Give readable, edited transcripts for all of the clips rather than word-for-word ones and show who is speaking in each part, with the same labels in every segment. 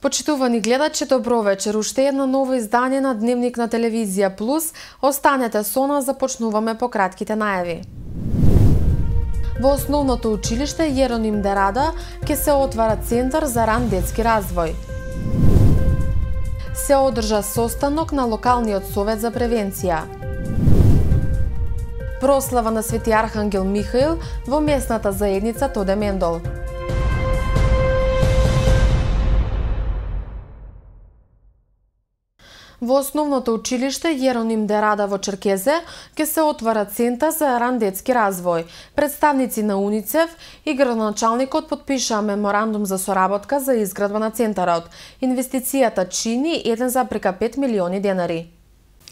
Speaker 1: Почитувани гледачи, добро вечер. Уште едно ново издание на Дневник на Телевизија Плюс. Останете со нас, започнуваме по кратките најави. Во основното училиште Јероним Дерада ќе се отвара Центар за ран детски развој. Се одржа состанок на локалниот совет за превенција. Прослава на Свети Архангел Михаил во местната заедница Тоде Мендол. Во основното училиште Јероним Дерада во Черкезе ќе се отвара Центар за ран детски развој. Представници на УНИЦЕФ и градоначалникот подпишаа меморандум за соработка за изградба на центарот. Инвестицијата чини 1,5 милиони денари.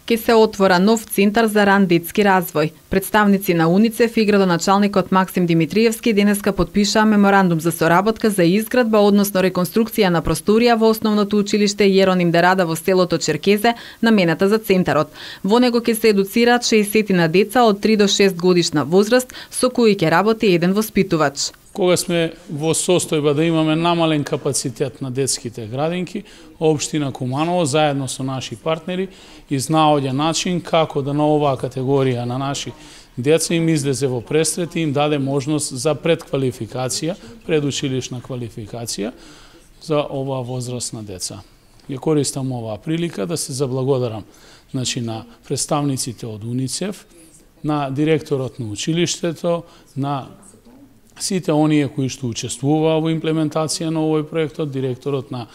Speaker 2: Ке се отвора нов центар за ран детски развој. Представници на УНИЦЕФ и градоначалникот Максим Димитриевски денеска подпишаа меморандум за соработка за изградба, односно реконструкција на просторија во основното училиште Јероним Дерада во селото Черкезе, намената за центарот. Во него ќе се едуцираат 60 на деца од 3 до 6 годишна возраст, со кои ќе работи еден воспитувач.
Speaker 3: Кога сме во состојба да имаме намален капацитет на детските градинки, општина Куманово заедно со наши партнери изнаоѓа начин како да на оваа категорија на наши деца им излезе во престрет и им даде можност за предквалификација, предучилишна квалификација за оваа возраст на деца. Ја користам оваа прилика да се заблагодарам на представниците од УНИЦЕФ, на директорот на училиштето, на сите оние кои што учествуваа во имплементација на овој проектот, директорот на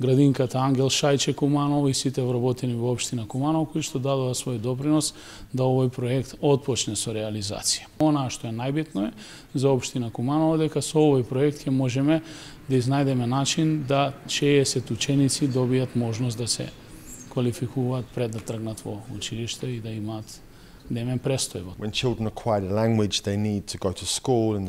Speaker 3: градинката Ангел Шајче Куманово и сите вработени во општина Куманово кои што дадоа свој допринос да овој проект отпочне со реализација. Она што е најбитно е за општина Куманово дека со овој проект ќе можеме да изнајдеме начин да 60 ученици добијат можност да се квалификуваат пред да тргнат во училиште и да имаат немен престој.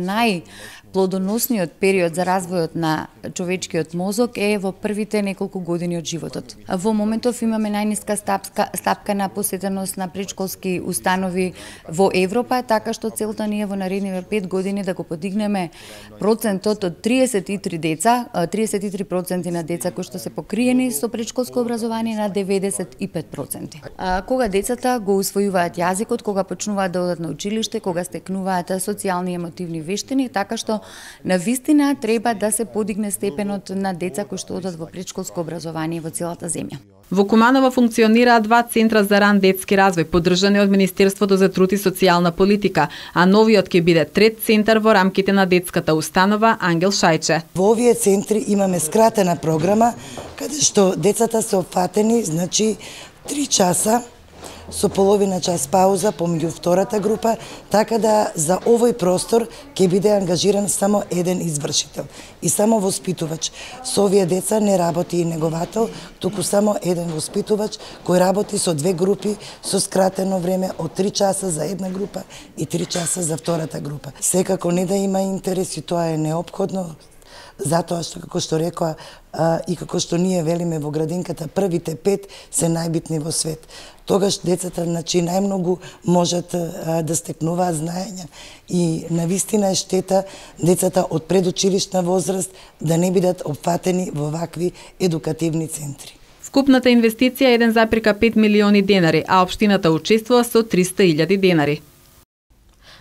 Speaker 4: Најплодоносниот период за развојот на човечкиот мозок е во првите неколку години од животот. Во моментов имаме најниска стапка на посетеност на предшколски установи во Европа, така што целта ни е во наредниве 5 години да го подигнеме процентот од 33% на деца кои што се покриени со предшколско образование на 95%. Кога децата го усвојуваат јазикот, кога почнуваат да одат на училиште, кога стекнуваат социјални и емотивни вештини, така што на вистина треба да се подигне степенот на деца кои што одат во предшколско образование во целата земја.
Speaker 2: Во Куманово функционираат 2 центра за ран детски развој, поддржани од Министерството за труд и социјална политика, а новиот ќе биде трет центар во рамките на детската установа Ангел Шајче.
Speaker 5: Во овие центри имаме скратена програма, каде што децата се опфатени, 3 часа, со половина час пауза помеѓу втората група, така да за овој простор ќе биде ангажиран само еден извршител и само воспитувач. Со овие деца не работи и неговател, туку само еден воспитувач кој работи со 2 групи со скратено време од 3 часа за една група и 3 часа за втората група. Секако не да има интерес и тоа е неопходно, затоа што, како што рекоа и како што ние велиме во градинката, првите 5 се најбитни во свет. Тогаш децата најмногу можат да стекнуваат знаења и навистина е штета децата од предучилишна возраст да не бидат опфатени во вакви едукативни центри.
Speaker 2: Вкупната инвестиција е 1,5 милиони денари, а општината учествува со 300.000 денари.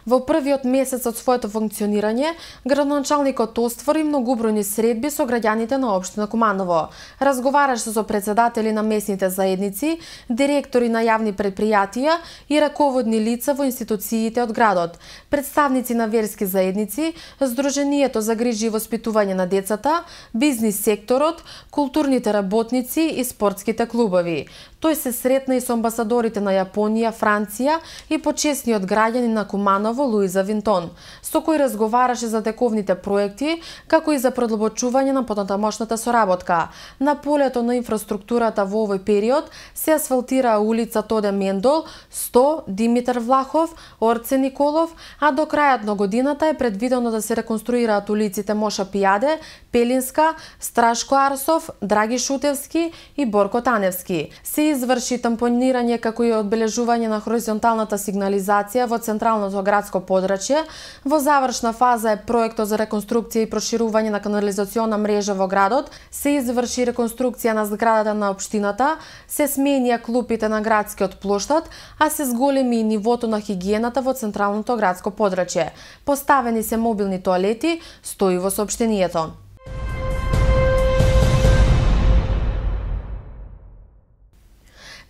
Speaker 1: Во првиот месец од своето функционирање, градоначалникот оствари многубројни средби со граѓаните на општина Куманово. Разговараше со председатели на местните заедници, директори на јавни предпријатија и раководни лица во институциите од градот, представници на верски заедници, Сдруженијето за грижи и воспитување на децата, бизнис секторот, културните работници и спортските клубови. Тој се сретна и со амбасадорите на Јапонија, Франција и почесниот граѓанин на Куманово Луиза Винтон, со кој разговараше за тековните проекти, како и за продлабочување на понатамошната соработка. На полето на инфраструктурата во овој период се асфалтираа улица Тоде Мендол, 100 Димитар Влахов, Орце Николов, а до крајот на годината е предвидено да се реконструираат улиците Моша Пијаде, Пелинска, Страшко Арсов, Драги Шутевски и Борко Таневски. Се изврши тампонирање како и одбележување на хоризонталната сигнализација во централното градско градско подрачје. Во завршна фаза е проектот за реконструкција и проширување на канализациона мрежа во градот, се изврши реконструкција на зградата на општината, се сменија клупите на градскиот плоштад, а се зголеми и нивото на хигиената во централното градско подрачје. Поставени се мобилни тоалети, стои во соопштението.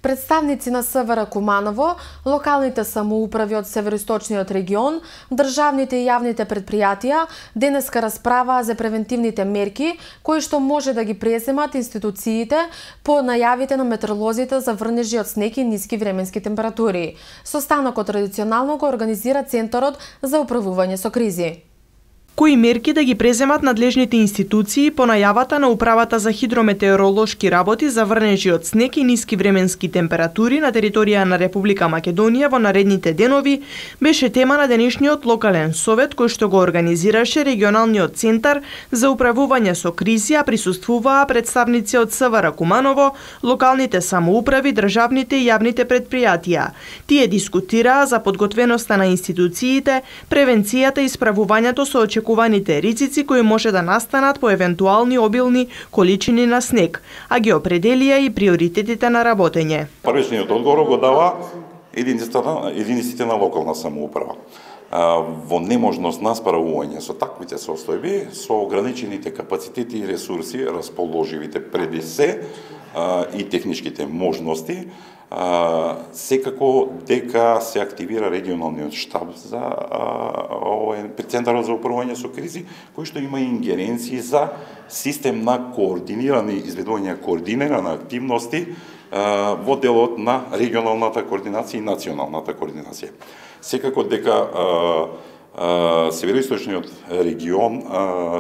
Speaker 1: Представници на СВР Куманово, локалните самоуправи од североисточниот регион, државните и јавните предпријатија денеска расправаа за превентивните мерки кои што може да ги преземат институциите по најавите на метеоролозите за врнежи од снег и ниски временски температури. Состанокот традиционално го организира Центарот за управување со кризи.
Speaker 6: Кои мерки да ги преземат надлежните институции по најавата на Управата за хидрометеоролошки работи за врнежи од снег и ниски временски температури на територија на Република Македонија во наредните денови, беше тема на денешниот локален совет кој што го организираше регионалниот центар за управување со кризи, а присуствуваа представници од СВР Куманово, локалните самоуправи, државните и јавните предпријатија. Тие дискутираа за подготвеноста на институциите, превенцијата и справувањето со очекуваните ризици кои може да настанат по евентуални обилни количини на снег, а ги определија и приоритетите на работење.
Speaker 7: Првичниот одговор го дава единиците на локална самоуправа. Во неможност на справување со таквите состојби, со ограничените капацитети и ресурси, расположивите преди се и техничките можности, секако дека се активира регионалниот штаб за Центарот за управување со кризи, кој што има ингеренции за систем на координирани изведување координирани активности во делот на регионалната координација и националната координација. Секако дека североисточниот регион,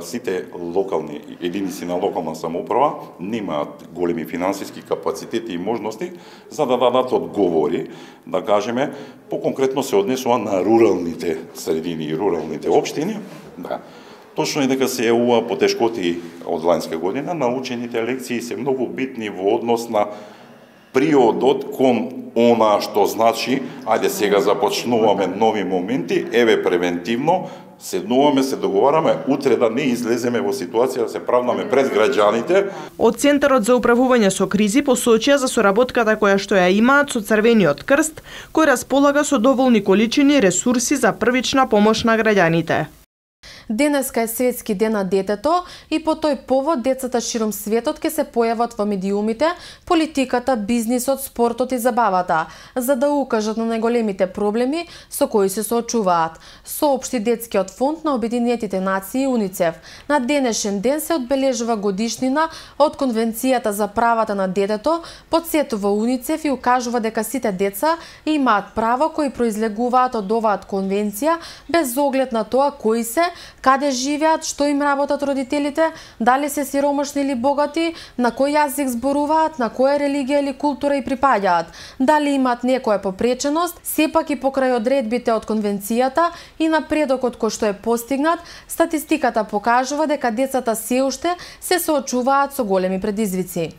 Speaker 7: сите локални единици на локална самоуправа немаат големи финансиски капацитети и можности за да дадат одговори, да кажеме, поконкретно се однесува на руралните средини и руралните општини. Да. Точно е дека се јавува потешкоти од ланска година, научените лекции се многу битни во однос на приодот кон она што значи, ајде сега започнуваме нови моменти, еве превентивно, седнуваме, се договараме, утре да не излеземе во ситуација да се правнаме пред граѓаните.
Speaker 6: Од Центарот за управување со кризи посочија за соработката која што ја имаат со Црвениот крст, кој располага со доволни количини ресурси за првична помош на граѓаните.
Speaker 1: Денеска е Светски ден на детето и по тој повод децата широм светот ќе се појават во медиумите, политиката, бизнисот, спортот и забавата, за да укажат на најголемите проблеми со кои се соочуваат. Соопшти Детскиот фонд на Обединетите нации УНИЦЕФ. На денешен ден се одбележува годишнина од Конвенцијата за правата на детето, потсетува УНИЦЕФ и укажува дека сите деца имаат право кои произлегуваат од оваа конвенција без оглед на тоа кои се, каде живеат, што им работат родителите, дали се сиромашни или богати, на кој јазик зборуваат, на која религија или култура и припаѓаат, дали имаат некоја попреченост, сепак и покрај одредбите од конвенцијата и напредокот кој што е постигнат, статистиката покажува дека децата се уште се соочуваат со големи предизвици.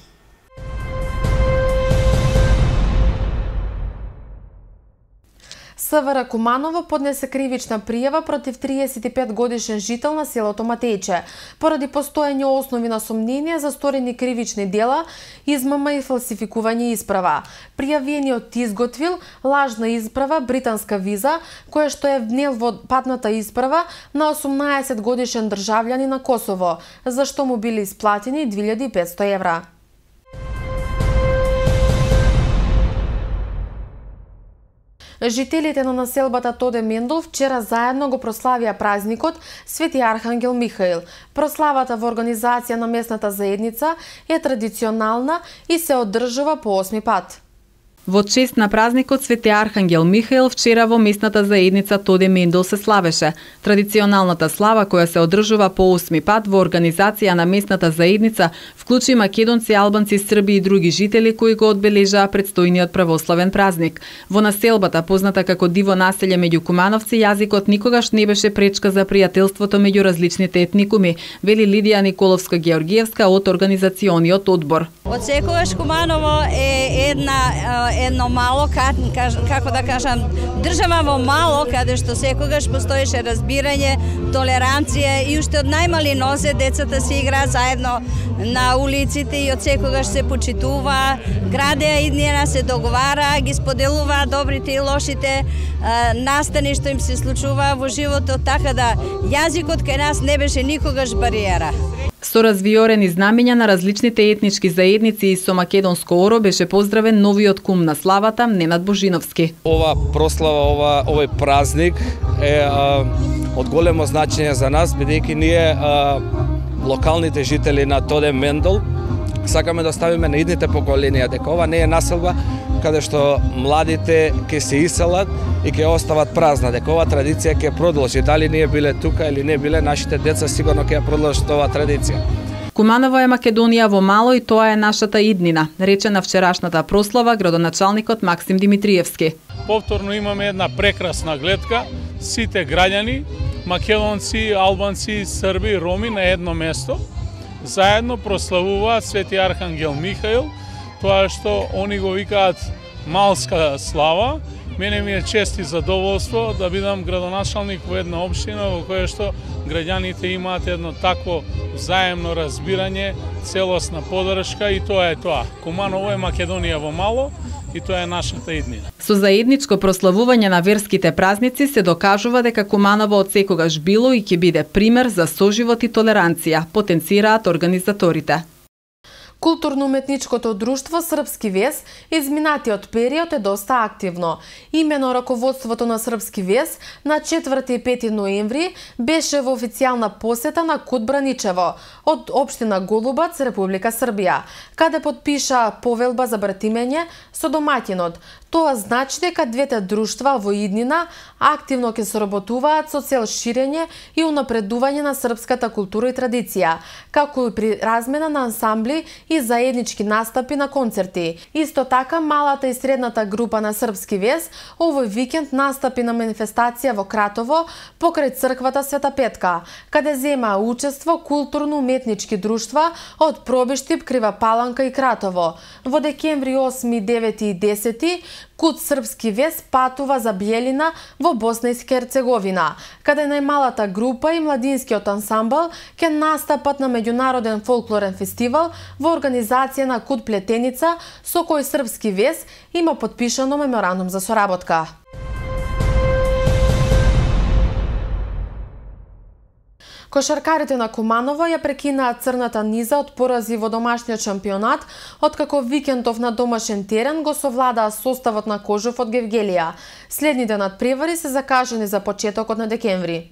Speaker 1: СВР Куманово поднесе кривична пријава против 35 годишен жител на селото Матејче, поради постоење основи на сомнение за сторени кривични дела, измама и фалсификување исправа. Пријавениот изготвил лажна исправа, британска виза, која што е внел во патната исправа на 18 годишен државјанин на Косово, за што му били исплатени 2500 евра. Жителите на населбата Тоде Мендол вчера заедно го прославија празникот Свети Архангел Михаил. Прославата во организација на местната заедница е традиционална и се одржува по 8 пат.
Speaker 2: Во чест на празникот Свети Архангел Михаил вчера во местната заедница Тоде Мендол се славеше. Традиционалната слава која се одржува по 8 пат во организација на местната заедница вклучи македонци, албанци, срби и други жители кои го одбележаа предстојниот православен празник. Во населбата позната како диво населје меѓу кумановци, јазикот никогаш не беше пречка за пријателството меѓу различните етникуми, вели Лидија Николовска-Георгиевска од организациониот одбор.
Speaker 8: Од секогаш Куманово е една едно мало, како да кажам, држава во мало, каде што секогаш постоеше разбирање, толеранција и уште од најмали нозе децата се играат заедно на улиците и од секогаш се почитува, градеа иднина, се договара, ги споделува добрите и лошите настани што им се случува во животот, така да јазикот кај нас не беше никогаш бариера.
Speaker 2: Со развиорени знамења на различните етнички заедници и со македонско оро беше поздравен новиот кум на славата Ненад Божиновски.
Speaker 9: Ова прослава, овој празник е од големо значење за нас, бидејќи ние локалните жители на Тодем Мендел сакаме да ставиме на идните поколенија дека ова не е населба каде што младите ќе се иселат и ќе остават празна, дека ова традиција ќе продолжи. Дали ние биле тука или не биле, нашите деца сигурно ќе ја продолжат оваа традиција.
Speaker 2: Куманово е Македонија во мало и тоа е нашата иднина, рече на вчерашната прослава градоначалникот Максим Димитриевски.
Speaker 3: Повторно имаме една прекрасна гледка, сите граѓани, македонци, албанци, срби, роми на едно место, заедно прославуваат Свети Архангел Михаил, тоа што они го викаат малска слава. Мене ми е чест и задоволство да бидам градоначалник во една општина во која што граѓаните имаат едно такво взаемно разбирање, целосна поддршка и тоа е тоа. Куманово е Македонија во мало и тоа е нашата иднина.
Speaker 2: Со заедничко прославување на верските празници се докажува дека Куманово од секогаш било и ќе биде пример за соживот и толеранција, потенцираат организаторите.
Speaker 1: Културно-уметничкото друштво Српски вес изминатиот период е доста активно. Имено раководството на Српски вес на 4 и 5 ноември беше во официјална посета на Кут Браничево од општина Голубац, Република Србија, каде потпиша повелба за братимење со домаќинот. Тоа значи дека двете друштва во иднина активно ќе соработуваат со цел ширење и унапредување на српската култура и традиција, како и при размена на ансамбли и заеднички настапи на концерти. Исто така, малата и средната група на Српски вес овој викенд настапи на манифестација во Кратово покрај црквата Света Петка, каде земаа учество културно-уметнички друштва од Пробиштип, Крива Паланка и Кратово. Во декември 8, 9 и 10 Кут Српски вес патува за Бјелина во Босна и Херцеговина, каде најмалата група и младинскиот ансамбл ќе настапат на меѓународен фолклорен фестивал во организација на Кут Плетеница, со кој Српски вес има потпишано меморандум за соработка. Кошаркарите на Куманово ја прекинаа црната низа од порази во домашниот шампионат, откако викендов на домашен терен го совладаа составот на Кожов од Гевгелија. Следните надпревари се закажани за почетокот на декември.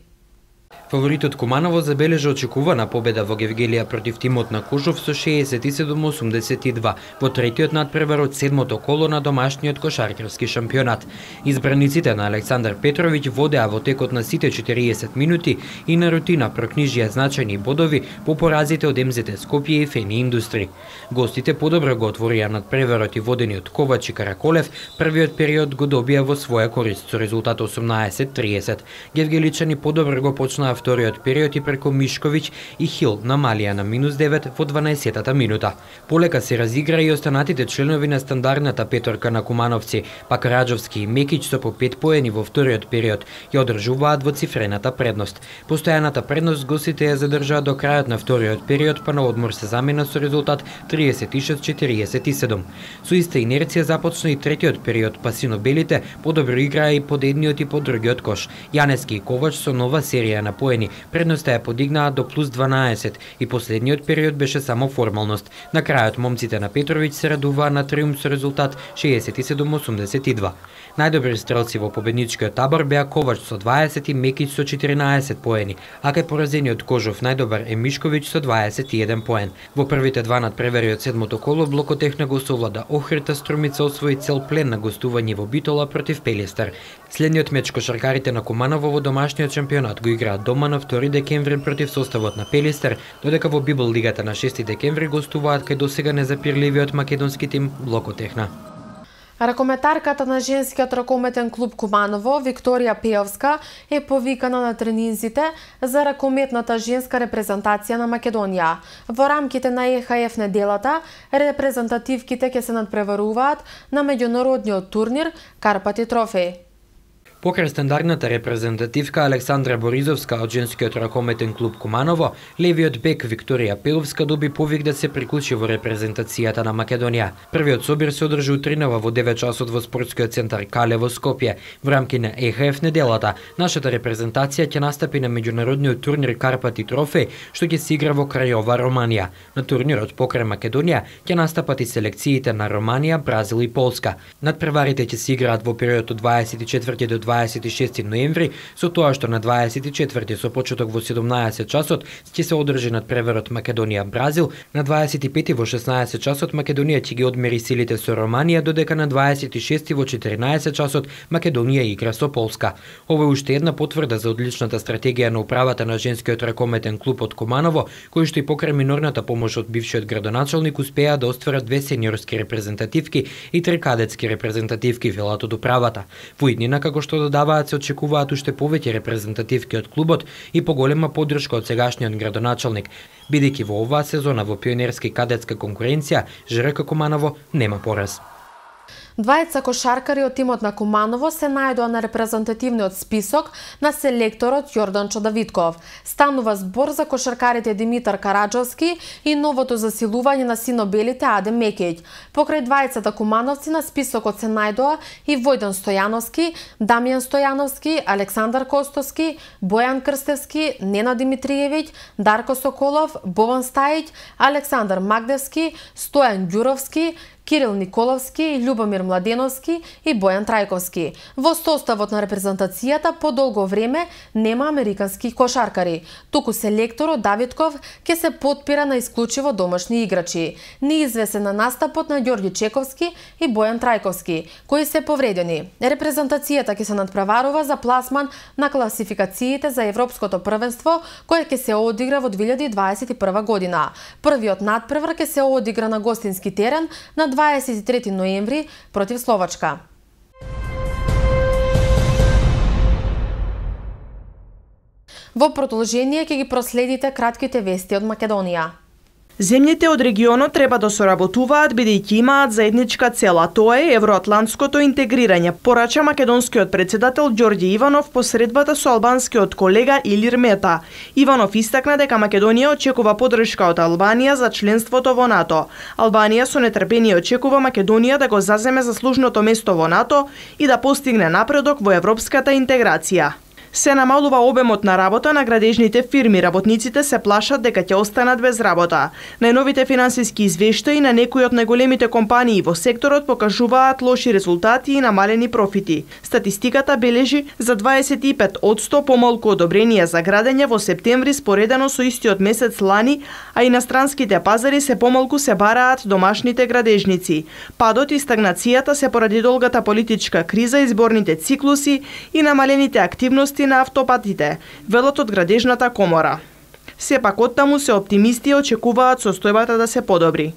Speaker 10: Фаворитот Куманово забележа очекувана победа во Гевгелија против тимот на Кожов со 67-82 во третиот надпревар од седмото коло на домашниот кошаркарски шампионат. Избраниците на Александар Петровиќ водеа во текот на сите 40 минути и на рутина прокнижија значајни бодови по поразите од МЗТ Скопје и Фени Индустри. Гостите подобро го отворија надпреварот и водени од Ковач и Караколев, првиот период го добија во своја корист со резултат 18-30. Гевгеличани подобро го почнаа вториот период и преку Мишковиќ и Хил намалија на -9 во 12-та минута. Полека се разигра и останатите членови на стандардната петорка на кумановци, па Караджовски и Мекиć со по 5 поени во вториот период ја одржуваат во цифрената предност. Постојаната предност гостите ја задржаа до крајот на вториот период, па на одмор се замена со резултат 36-47. Со иста инерција започна и третиот период, па сино-белите подобро играа и под едниот и под другиот кош. Јанески и Ковач со нова серија на поени предноста ја подигнаа до плюс 12 и последниот период беше само формалност. На крајот момците на Петровиќ се радуваа на триумф со резултат 67-82. Најдобри стрелци во победничкиот табор беа Ковач со 20 и Мекиć со 14 поени, а кај поразениот Кожов најдобар е Мишковиќ со 21 поен. Во првите два надпревари од седмото коло Блокотехна го совлада Охрита, Струмица освои цел плен на гостување во Битола против Пелистер. Следниот меч кошаркарите на Куманово во домашниот шампионат го играат дома на 2 декември против составот на Пелистер, додека во Библ лигата на 6 декември гостуваат кај досега незапирливиот македонски тим Блокотехна.
Speaker 1: Ракометарката на женскиот ракометен клуб Куманово, Викторија Пеовска, е повикана на тренинзите за ракометната женска репрезентација на Македонија. Во рамките на ЕХФ неделата, репрезентативките ќе се надпреваруваат на меѓународниот турнир Карпати трофеј.
Speaker 10: Покрај стандардната репрезентативка Александра Боризовска од женскиот ракометен клуб Куманово, левиот бек Викторија Пеовска доби повик да се приклучи во репрезентацијата на Македонија. Првиот собир се одржи утринава во 9 часот во спортскиот центар Кале во Скопје. Во рамки на ЕХФ неделата, нашата репрезентација ќе настапи на меѓународниот турнир Карпати трофеј, што ќе се игра во Крајова, Романија. На турнирот покрај Македонија ќе настапат и селекциите на Романија, Бразил и Полска. Надпреварите ќе се играат во период од 24 до 26 ноември, со тоа што на 24 со почеток во 17 часот ќе се одржи надпреварот Македонија-Бразил, на 25 во 16 часот Македонија ќе ги одмери силите со Романија, додека на 26 во 14 часот Македонија игра со Полска. Ова е уште една потврда за одличната стратегија на управата на женскиот ракометен клуб од Куманово, кој што и покрај минорната помош од бившиот градоначалник успеа да остварат 2 сениорски репрезентативки и 3 кадетски репрезентативки, велат од управата. Во иднина, како што додаваат, се очекуваат уште повеќе репрезентативки од клубот и поголема поддршка од сегашниот градоначалник, бидејќи во оваа сезона во пионерски кадетска конкуренција ЖРК Куманово нема пораз.
Speaker 1: Двајца кошаркари од тимот на Куманово се најдоа на репрезентативниот список на селекторот Јорданчо Давидков. Станува збор за кошаркарите Димитар Караджовски и новото засилување на синобелите Адем Мекејќ. Покрај двајцата кумановци на списокот се најдоа и Војдан Стојановски, Дамјан Стојановски, Александар Костовски, Бојан Крстевски, Нена Димитриевиќ, Дарко Соколов, Бован Стајиќ, Александар Магдевски, Стојан Ѓуровски, Кирил Николовски, Љубомир Младеновски и Бојан Трајковски. Во составот на репрезентацијата по долго време нема американски кошаркари, туку селекторот Давидков ќе се потпира на исклучиво домашни играчи. Неизвесен на настапот на Ѓорѓи Чековски и Бојан Трајковски, кои се повредени. Репрезентацијата ќе се надпреварува за пласман на класификациите за Европското првенство, кое ќе се одигра во 2021 година. Првиот надпревар ќе се одигра на гостински терен на 23 ноември против Словачка. Во продолжение ќе ги проследите кратките вести од Македонија.
Speaker 6: Земјите од регионот треба да соработуваат бидејќи имаат заедничка цел, а тоа е евроатлантското интегрирање, порача македонскиот председател Ѓорѓе Иванов по средбата со албанскиот колега Илир Мета. Иванов истакна дека Македонија очекува поддршка од Албанија за членството во НАТО. Албанија со нетрпение очекува Македонија да го заземе заслужното место во НАТО и да постигне напредок во европската интеграција. Се намалува обемот на работа на градежните фирми, работниците се плашат дека ќе останат без работа. Најновите финансиски извештаи на некои од најголемите компании во секторот покажуваат лоши резултати и намалени профити. Статистиката бележи за 25% помалку одобренија за градење во септември споредено со истиот месец лани, а иностранските пазари се помалку се бараат домашните градежници. Падот и стагнацијата се поради долгата политичка криза, изборните циклуси и намалените активности на автопатите, велат од градежната комора. Сепак оттаму се оптимисти и очекуваат состојбата да се подобри.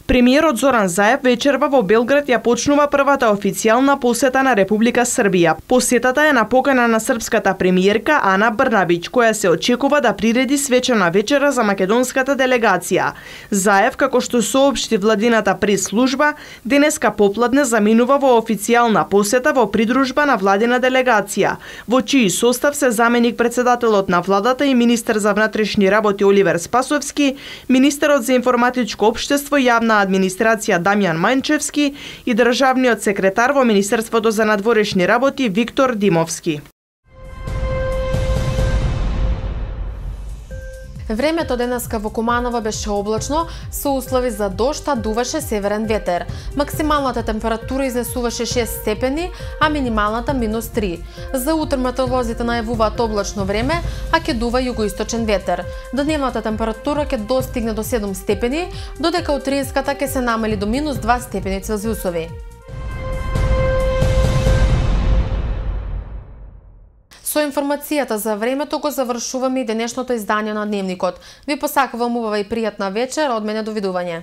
Speaker 6: Премиерот Зоран Заев вечерва во Белград ја почнува првата официјална посета на Република Србија. Посетата е на покана на српската премиерка Ана Брнабиќ, која се очекува да приреди свечена вечера за македонската делегација. Заев, како што соопшти владината прес-служба, денеска попладне заминува во официјална посета во придружба на владина делегација, во чиј состав се заменик председателот на владата и министер за внатрешни работи Оливер Спасовски, министерот за информатичко општество и јавна администрација Дамјан Мајнчевски и државниот секретар во Министерството за надворешни работи Виктор Димовски.
Speaker 1: Времето денеска во Куманово беше облачно, со услови за дожд, а дуваше северен ветер. Максималната температура изнесуваше 6 степени, а минималната -3. За утре метеоролозите најавуваат облачно време, а ќе дува југоисточен ветер. Дневната температура ќе достигне до 7 степени, додека утринската ќе се намали до -2 степени Целзиусови. Со информацијата за времето го завршуваме и денешното издание на Дневникот. Ви посакувам убава и пријатна вечер, од мене довидување.